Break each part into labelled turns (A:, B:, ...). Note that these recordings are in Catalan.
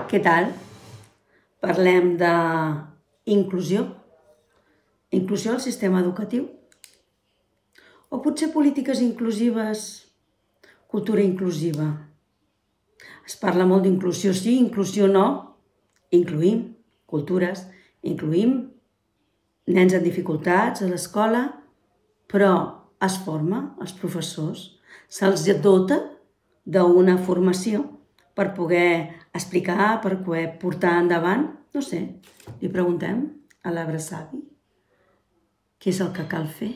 A: Què tal? Parlem d'inclusió. Inclusió al sistema educatiu? O potser polítiques inclusives, cultura inclusiva? Es parla molt d'inclusió sí, inclusió no. Incluïm cultures, incluïm nens amb dificultats a l'escola, però es forma els professors, se'ls dota d'una formació per poder explicar, per poder portar endavant, no sé, li preguntem a l'arbre savi què és el que cal fer.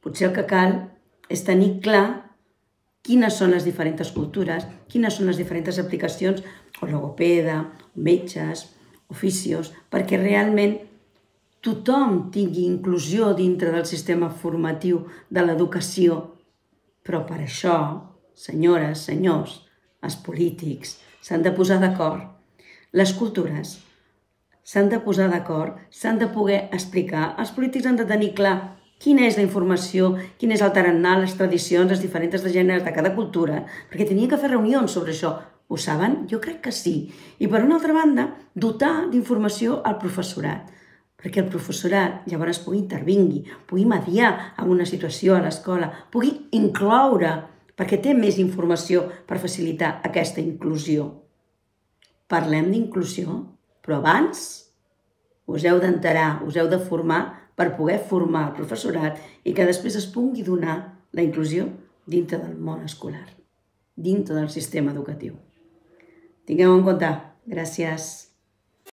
A: Potser el que cal és tenir clar quines són les diferents cultures, quines són les diferents aplicacions, o logopeda, o metges, oficios, perquè realment tothom tingui inclusió dintre del sistema formatiu de l'educació. Però per això, senyores, senyors, els polítics s'han de posar d'acord. Les cultures s'han de posar d'acord, s'han de poder explicar. Els polítics han de tenir clar quina és la informació, quin és el tarannà, les tradicions, les diferents gèneres de cada cultura, perquè tenien que fer reunions sobre això. Ho saben? Jo crec que sí. I per una altra banda, dotar d'informació al professorat, perquè el professorat llavors pugui intervingui, pugui mediar en una situació a l'escola, pugui incloure, perquè té més informació per facilitar aquesta inclusió. Parlem d'inclusió, però abans us heu d'enterar, us heu de formar per poder formar el professorat i que després es pugui donar la inclusió dintre del món escolar, dintre del sistema educatiu. Tingueu en compte. Gràcies.